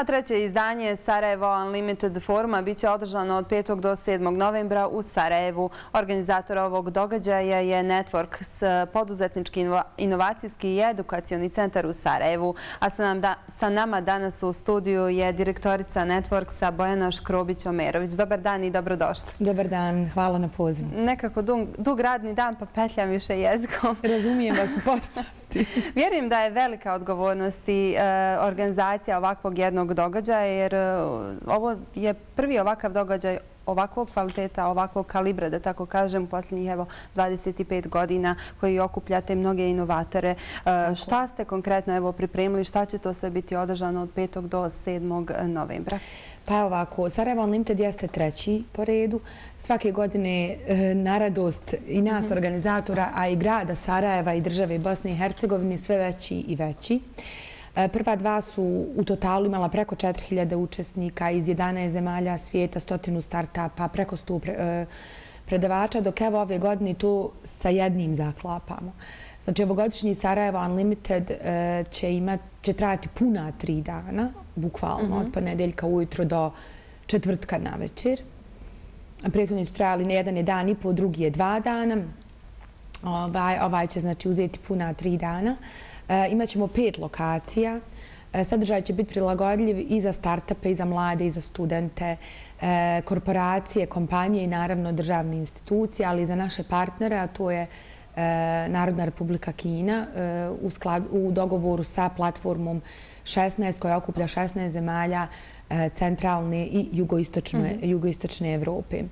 A treće izdanje Sarajevo Unlimited foruma biće održano od 5. do 7. novembra u Sarajevu. Organizator ovog događaja je Networks, poduzetnički inovacijski i edukacioni centar u Sarajevu. A sa nama danas u studiju je direktorica Networksa Bojana Škrobić-Omerović. Dobar dan i dobrodošli. Dobar dan, hvala na pozivu. Nekako dug radni dan pa petljam više jezikom. Razumijem vas u potpunosti. Vjerujem da je velika odgovornost i organizacija ovakvog jednog događaja, jer ovo je prvi ovakav događaj ovakvog kvaliteta, ovakvog kalibra, da tako kažem, u posljednjih 25 godina koji okupljate mnoge inovatore. Šta ste konkretno pripremili, šta će to sve biti održano od 5. do 7. novembra? Pa ovako, Sarajevo Unlimited jeste treći po redu. Svake godine na radost i nas organizatora, a i grada Sarajeva i države Bosne i Hercegovine sve veći i veći. Prva dva su u totalu imala preko 4000 učesnika iz 11 zemalja svijeta, 100 startupa, preko 100 predavača, dok evo ove godine to sa jednim zaklapamo. Znači, ovogodišnji Sarajevo Unlimited će trajati puna 3 dana, bukvalno, od ponedeljka ujutro do četvrtka na večer. Prethodni su trajali jedan je dan i po, drugi je 2 dana. Ovaj će znači uzeti puna 3 dana. Imaćemo 5 lokacija. Sadržaj će biti prilagodljiv i za startupe, i za mlade, i za studente, korporacije, kompanije i naravno državne institucije, ali i za naše partnere, a to je Narodna Republika Kina u dogovoru sa platformom 16 koja okuplja 16 zemalja centralne i jugoistočne Evrope.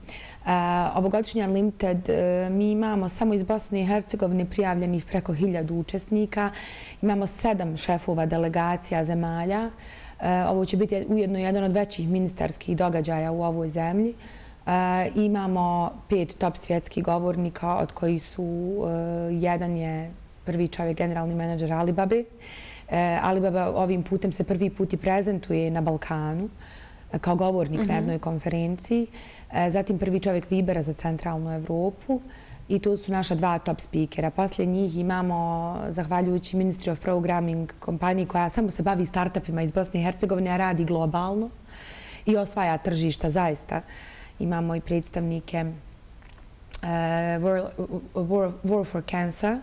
Ovogodišnji Unlimited mi imamo samo iz Bosne i Hercegovine prijavljenih preko 1000 učesnika. Imamo 7 šefova delegacija zemalja. Ovo će biti ujedno jedan od većih ministarskih događaja u ovoj zemlji. Imamo 5 top svjetskih govornika, od kojih su jedan je prvi čovjek, generalni menadžer Alibabe. Alibaba ovim putem se prvi put i prezentuje na Balkanu kao govornik na jednoj konferenciji. Zatim prvi čovjek Vibera za centralnu Evropu i tu su naša 2 top speakera. Poslije njih imamo, zahvaljujući Ministry of Programming, kompaniji koja samo se bavi startupima iz Bosne i Hercegovine, a radi globalno i osvaja tržišta zaista. Imamo i predstavnike War for Cancer,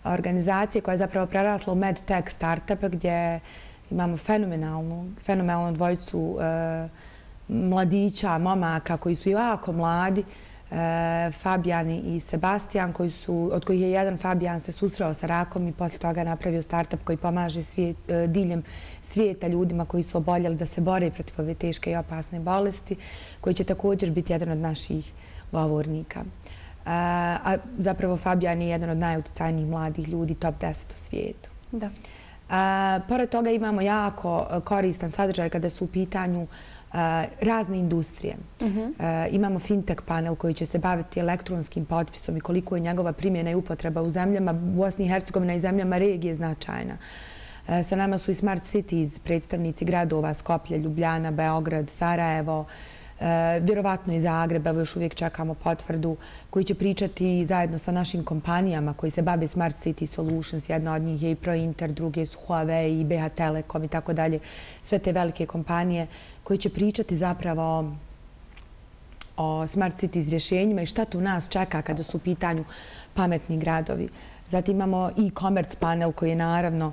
organizacije koja je zapravo prerasla u medtech startupa gdje imamo fenomenalnu dvojicu mladića, momaka koji su jako mladi, Fabijan i Sebastian, od kojih je jedan Fabijan se susreo sa rakom i poslije toga napravio startup koji pomaže diljem svijeta ljudima koji su oboljeli da se bore protiv ove teške i opasne bolesti, koji će također biti jedan od naših govornika. A zapravo Fabijan je jedan od najuticajnijih mladih ljudi, top 10 u svijetu. Pored toga imamo jako koristan sadržaj kada su u pitanju razne industrije. Imamo fintech panel koji će se baviti elektronskim potpisom i koliko je njegova primjena i upotreba u zemljama Bosne i Hercegovine i zemljama regije značajna. Sa nama su i Smart Cities, predstavnici gradova Skoplje, Ljubljana, Beograd, Sarajevo, vjerovatno i Zagreb, evo još uvijek čekamo potvrdu, koji će pričati zajedno sa našim kompanijama koji se bave Smart City Solutions. Jedna od njih je i ProInter, druge su Huawei i BH Telekom i tako dalje. Sve te velike kompanije koji će pričati zapravo o Smart Cities rješenjima i šta tu nas čeka kada su u pitanju pametni gradovi. Zatim imamo e-commerce panel koji je naravno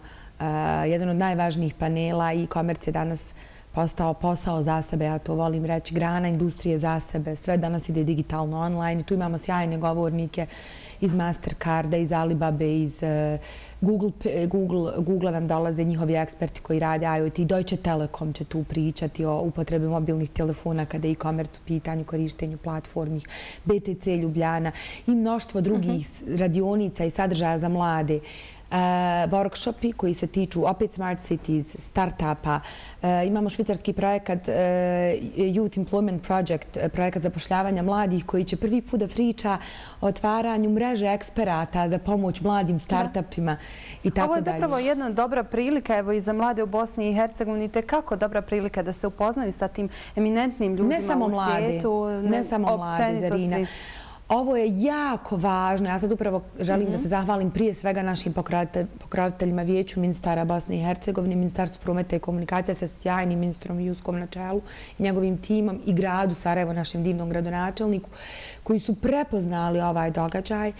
jedan od najvažnijih panela. E-commerce je danas postao posao za sebe, ja to volim reći, grana industrije za sebe. Sve danas ide digitalno online. Tu imamo sjajne govornike iz Mastercarda, iz Alibabe, iz Google nam dolaze njihovi eksperti koji rade IoT. Deutsche Telekom će tu pričati o upotrebi mobilnih telefona kada je e-commerce u pitanju, korištenju platformi, BTC Ljubljana i mnoštvo drugih radionica i sadržaja za mlade. Workshopi koji se tiču opet Smart Cities, startupa. Imamo švicarski projekat Youth Employment Project, projekat zapošljavanja mladih koji će prvi put da priča o otvaranju mreže eksperata za pomoć mladim startupima i tako dalje. Ovo je zapravo jedna dobra prilika evo i za mlade u Bosni i Hercegovini, tekako dobra prilika da se upoznaju sa tim eminentnim ljudima u svijetu. Ne samo mlade, Zarina. Ovo je jako važno. Ja sad upravo želim da se zahvalim prije svega našim pokroviteljima Vijeću ministara Bosne i Hercegovine, Ministarstvu prometa i komunikacija sa sjajnim ministrom Juskom na čelu i njegovim timom i gradu Sarajevo, našem divnom gradonačelniku, koji su prepoznali ovaj događaj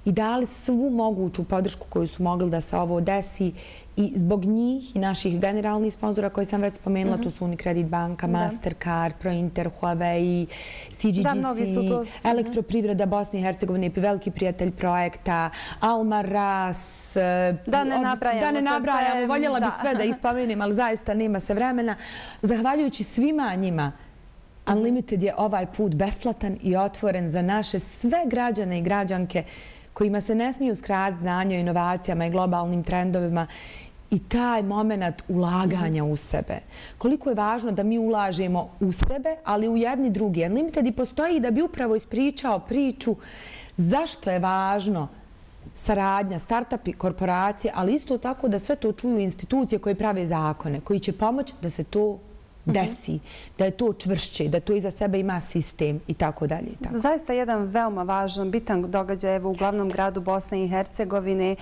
i dali svu moguću podršku koju su mogli da se ovo desi. I zbog njih i naših generalnih sponzora koji sam već spomenula, to su Unicredit banka, Mastercard, Prointer, Huawei, CGGC, Elektroprivreda Bosne i Hercegovine, veliki prijatelj projekta, Almaraz, da ne nabrajamo, voljela bih sve da ispomenem, ali zaista nema se vremena. Zahvaljujući svima njima, Unlimited je ovaj put besplatan i otvoren za naše sve građane i građanke kojima se ne smiju skratiti znanje o inovacijama i globalnim trendovima i taj moment ulaganja u sebe. Koliko je važno da mi ulažemo u sebe, ali u jedni drugi. Unlimited i postoji da bi upravo ispričao priču zašto je važno saradnja, startupi, korporacije, ali isto tako da sve to čuju institucije koje prave zakone, koji će pomoći da se to desi, da je to čvršće, da to iza sebe ima sistem i tako dalje. Zaista jedan veoma važan, bitan događaj u glavnom gradu Bosne i Hercegovine.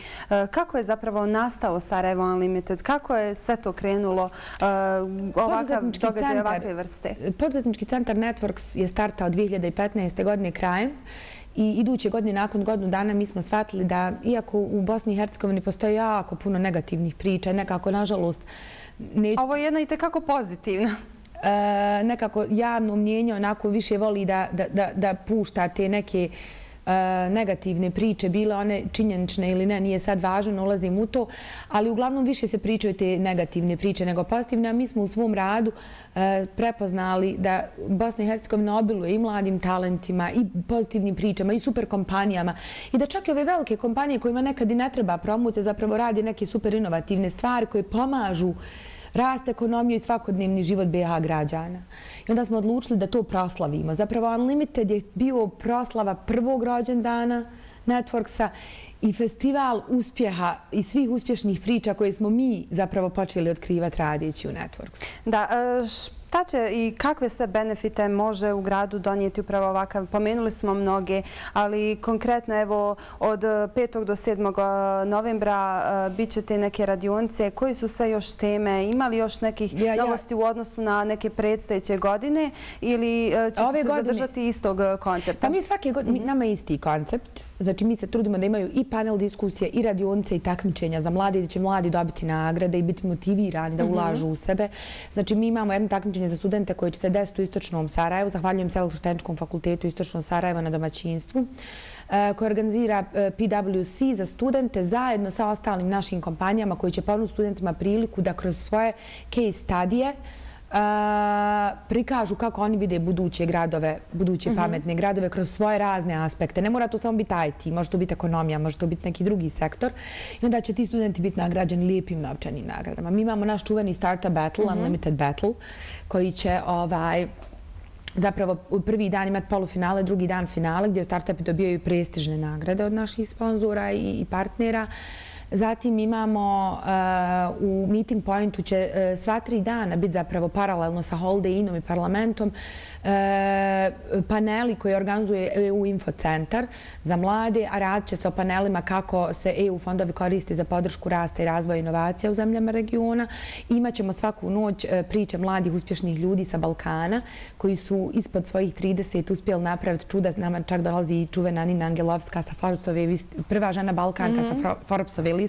Kako je zapravo nastao Sarajevo Unlimited? Kako je sve to krenulo ovakav događaj ovakve vrste? Poduzetnički centar Networks je startao 2015. godine krajem. I iduće godine, nakon godinu dana, mi smo shvatili da, iako u Bosni i Hercegovini postoji jako puno negativnih priča, nekako, nažalost, ovo je jedna i tekako pozitivna. Nekako javno mnjenje onako više voli da pušta te neke negativne priče, bile one činjenične ili ne, nije sad važno, ne ulazim u to, ali uglavnom više se pričaju te negativne priče nego pozitivne, a mi smo u svom radu prepoznali da Bosna i Hercegovina obiluje i mladim talentima i pozitivnim pričama i super kompanijama i da čak i ove velike kompanije kojima nekad i ne treba promocija zapravo radi neke super inovativne stvari koje pomažu rast ekonomije i svakodnevni život BiH građana. I onda smo odlučili da to proslavimo. Zapravo Unlimited je bio proslava prvog rođendana Networksa i festival uspjeha i svih uspješnih priča koje smo mi zapravo počeli otkrivati radijeći u Networksu. Da, šta će i kakve sve benefite može u gradu donijeti upravo ovakav? Pomenuli smo mnoge, ali konkretno evo od 5. do 7. novembra bit će te neke radionice. Koji su sve još teme? Ima li još nekih novosti u odnosu na neke predstojeće godine ili će se zadržati istog koncepta? Pa mi svake godine, nama je isti koncept. Znači, mi se trudimo da imaju i panel diskusije, i radionice, i takmičenja za mlade, da će mladi dobiti nagrade i biti motivirani da ulažu u sebe. Znači, mi imamo jedno takmičenje za studente koje će se desiti u Istočnom Sarajevu. Zahvaljujem se Elektrotehničkom fakultetu Istočno Sarajevo na domaćinstvu, koje organizira PwC za studente zajedno sa ostalim našim kompanijama koji će ponuditi studentima priliku da kroz svoje case studije prikažu kako oni vide buduće gradove, buduće pametne gradove kroz svoje razne aspekte. Ne mora to samo biti IT, može to biti ekonomija, može to biti neki drugi sektor. I onda će ti studenti biti nagrađeni lijepim novčanim nagradama. Mi imamo naš čuveni Startup Battle, Unlimited Battle, koji će zapravo u prvi dan imati polufinale, drugi dan finale, gdje startupi dobijaju prestižne nagrade od naših sponzora i partnera. Zatim imamo u Meeting Pointu će sva 3 dana biti zapravo paralelno sa Holiday Innom i parlamentom paneli koje organizuje EU Info centar za mlade, a radit će se o panelima kako se EU fondovi koriste za podršku rasta i razvoja inovacija u zemljama regiona. Imaćemo svaku noć priče mladih uspješnih ljudi sa Balkana koji su ispod svojih 30 uspjeli napraviti čuda. Nama čak dolazi i čuvena Nina Angelovska sa Forbesove liste, prva žena Balkanka sa Forbesove liste.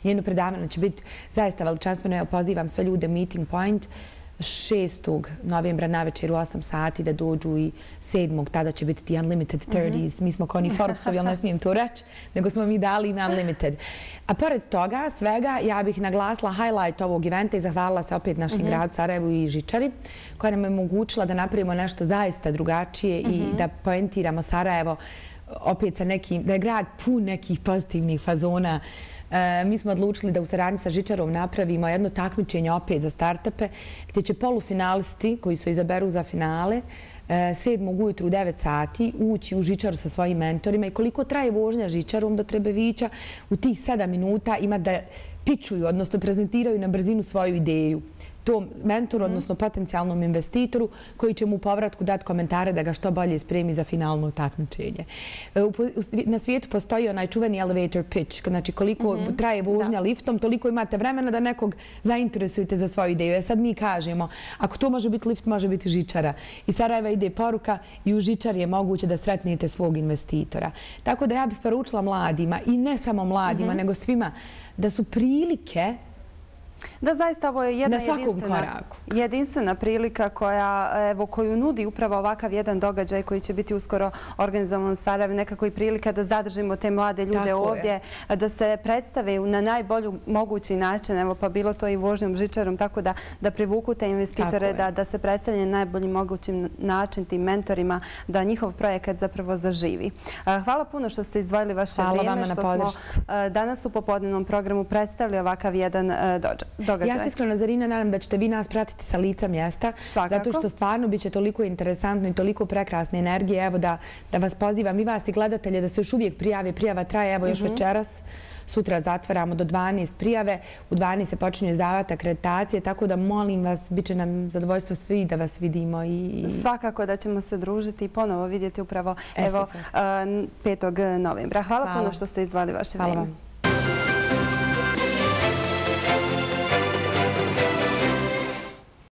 Njeno predavanje će biti zaista veličanstveno. Ja pozivam sve ljude Meeting Point 6. novembra navečer u 8 sati da dođu i 7. tada će biti ti Unlimited 30s. Mi smo kao ni Forbesovi, ali ne smijem to reći, nego smo mi dali ime Unlimited. A pored toga svega ja bih naglasila highlight ovog eventa i zahvalila se opet našem gradu Sarajevu i Žičari koja nam je omogućila da napravimo nešto zaista drugačije i da poentiramo Sarajevo opet sa nekim, da je grad pun nekih pozitivnih fazona. Mi smo odlučili da u saradnji sa Žičarom napravimo jedno takmičenje opet za startupe gdje će polufinalisti koji se izaberu za finale 7. ujutru u 9 sati ući u Žičaru sa svojim mentorima i koliko traje vožnja Žičarom do Trebevića u tih 7 minuta ima da pičuju, odnosno prezentiraju na brzinu svoju ideju. tom mentoru, odnosno potencijalnom investitoru koji će mu u povratku dati komentare da ga što bolje spremi za finalno takmičenje. Na svijetu postoji onaj čuveni elevator pitch, znači koliko traje vožnja liftom, toliko imate vremena da nekog zainteresujete za svoju ideju. Sad mi kažemo, ako to može biti lift, može biti žičara. Iz Sarajeva ide poruka i u žičari je moguće da sretnete svog investitora. Tako da ja bih poručila mladima, i ne samo mladima, nego svima, da su prilike da zaista ovo je jedna jedinstvena prilika koju nudi upravo ovakav jedan događaj koji će biti uskoro organizovan u Sarajevu, nekako i prilika da zadržimo te mlade ljude ovdje, da se predstave na najbolju mogući način, evo pa bilo to i vožnjom žičarom, tako da privuku te investitore, da se predstavlja na najbolji mogući način tim mentorima, da njihov projekat zapravo zaživi. Hvala puno što ste izdvojili vaše vrijeme, što smo danas u popodnevnom programu predstavili ovakav jedan događaj. Ja se iskreno, Zarina, nadam da ćete vi nas pratiti sa lica mjesta, zato što stvarno biće toliko interesantno i toliko prekrasne energije. Evo da vas pozivam i vas i gledatelje da se još uvijek prijave. Prijava traje, evo još večeras. Sutra zatvaramo do 12 prijave. U 12 se počinju izdavati akreditacije, tako da molim vas, bit će nam zadovoljstvo svi da vas vidimo. Svakako da ćemo se družiti i ponovo vidjeti upravo 5. novembra. Hvala puno što ste izdvojili vaše vrijeme.